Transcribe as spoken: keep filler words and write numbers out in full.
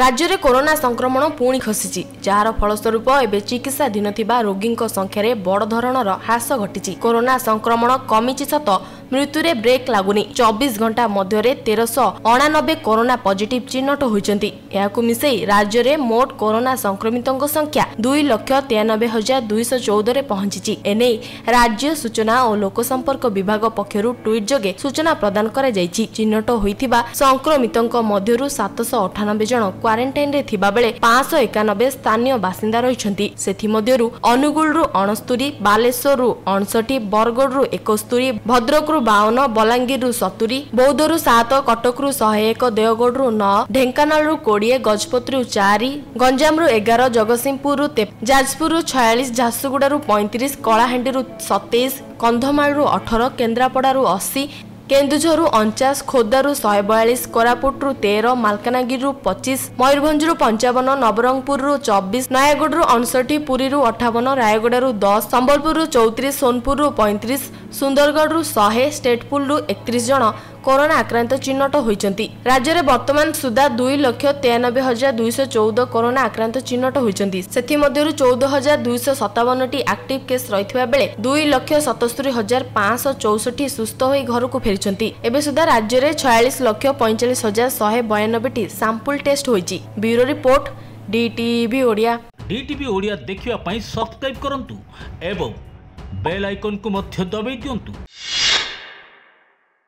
ରାଜ୍ୟରେ କରୋନା ସଂକ୍ରମଣ ପୁଣି ଖସିଛି, ଯାହାର ଫଳସ୍ୱରୂପ ଏବେ ଚିକିତ୍ସାଧୀନ ଥିବା ରୋଗୀଙ୍କ ସଂଖ୍ୟାରେ ବଡ଼ ଧରଣର ହ୍ରାସ ଘଟିଛି। କରୋନା ସଂକ୍ରମଣ କମିଛି ସତ, ମୃତ୍ୟୁରେ ବ୍ରେକ୍ ଲାଗୁନି। ଚବିଶ ଘଣ୍ଟା ମଧ୍ୟରେ ତେରଶହ ଅଣାନବେ କରୋନା ପଜିଟିଭ୍ ଚିହ୍ନଟ ହୋଇଛନ୍ତି। ଏହାକୁ ମିଶାଇ ରାଜ୍ୟରେ ମୋଟ କରୋନା ସଂକ୍ରମିତଙ୍କ ସଂଖ୍ୟା ଦୁଇ ଲକ୍ଷ ତେୟାନବେ ହଜାର ଦୁଇଶହ ଚଉଦରେ ପହଞ୍ଚିଛି। ଏନେଇ ରାଜ୍ୟ ସୂଚନା ଓ ଲୋକସମ୍ପର୍କ ବିଭାଗ ପକ୍ଷରୁ ଟ୍ୱିଟ୍ ଯୋଗେ ସୂଚନା ପ୍ରଦାନ କରାଯାଇଛି। ଚିହ୍ନଟ ହୋଇଥିବା ସଂକ୍ରମିତଙ୍କ ମଧ୍ୟରୁ ସାତଶହ ଅଠାନବେ ଜଣ କ୍ୱାରେଣ୍ଟାଇନରେ ଥିବାବେଳେ ପାଞ୍ଚଶହ ଏକାନବେ ସ୍ଥାନୀୟ ବାସିନ୍ଦା ରହିଛନ୍ତି। ସେଥିମଧ୍ୟରୁ ଅନୁଗୁଳରୁ ଅଣସ୍ତୁରି, ବାଲେଶ୍ୱରରୁ ଅଣଷଠି, ବରଗଡ଼ରୁ ଏକସ୍ତୁରି, ଭଦ୍ରକରୁ ବାଉନ, ବଲାଙ୍ଗୀରରୁ ସତୁରି, ବୌଦ୍ଧରୁ ସାତ, କଟକରୁ ଶହେ ଏକ, ଦେଓଗଡ଼ରୁ ନଅ, ଢେଙ୍କାନାଳରୁ କୋଡ଼ିଏ, ଗଜପତିରୁ ଚାରି, ଗଞ୍ଜାମରୁ ଏଗାର, ଜଗତସିଂହପୁରରୁ ଯାଜପୁରରୁ ଛୟାଳିଶ, ଝାରସୁଗୁଡ଼ାରୁ ପଇଁତିରିଶ, କଳାହାଣ୍ଡିରୁ ସତେଇଶ, କନ୍ଧମାଳରୁ ଅଠର, କେନ୍ଦ୍ରାପଡ଼ାରୁ ଅଶୀ, କେନ୍ଦୁଝରରୁ ଅଣଚାଶ, ଖୋର୍ଦ୍ଧାରୁ ଶହେ ବୟାଳିଶ, କୋରାପୁଟରୁ ତେର, ମାଲକାନଗିରିରୁ ପଚିଶ, ମୟୂରଭଞ୍ଜରୁ ପଞ୍ଚାବନ, ନବରଙ୍ଗପୁରରୁ ଚବିଶ, ନୟାଗଡ଼ରୁ ଅଣଷଠି, ପୁରୀରୁ ଅଠାବନ, ରାୟଗଡ଼ାରୁ ଦଶ, ସମ୍ବଲପୁରରୁ ଚଉତିରିଶ, ସୋନପୁରରୁ ପଇଁତିରିଶ, ସୁନ୍ଦରଗଡ଼ରୁ ଶହେ, ଷ୍ଟେଟପୁଲରୁ ଏକତିରିଶ ଜଣ କରୋନା ଆକ୍ରାନ୍ତ ଚିହ୍ନଟ ହୋଇଛନ୍ତି। ରାଜ୍ୟରେ ବର୍ତ୍ତମାନ ସୁଦ୍ଧା ଦୁଇ ଲକ୍ଷ ତେୟାନବେ ହଜାର ଦୁଇଶହ ଚଉଦ କରୋନା ଆକ୍ରାନ୍ତ ଚିହ୍ନଟ ହୋଇଛନ୍ତି। ସେଥିମଧ୍ୟରୁ ଚଉଦ ହଜାର ଦୁଇଶହ ସତାବନଟି ଆକ୍ଟିଭ କେସ୍ ରହିଥିବା ବେଳେ ଦୁଇ ଲକ୍ଷ ସତସ୍ତରୀ ହଜାର ପାଞ୍ଚଶହ ଚଉଷଠି ସୁସ୍ଥ ହୋଇ ଘରକୁ ଫେରିଛନ୍ତି। ଏବେ ସୁଦ୍ଧା ରାଜ୍ୟରେ ଛୟାଳିଶ ଲକ୍ଷ ପଇଁଚାଳିଶ ହଜାର ଶହେ ବୟାନବେଟି ସାମ୍ପୁଲ ଟେଷ୍ଟ ହୋଇଛି। Bureau report, DTV Odia. DTV Odia ଦେଖିବା ପାଇଁ ସବସ୍କ୍ରାଇବ୍ କରନ୍ତୁ ଏବଂ ବେଲ୍ ଆଇକନ୍କୁ ମଧ୍ୟ ଦବାଇ ଦିଅନ୍ତୁ।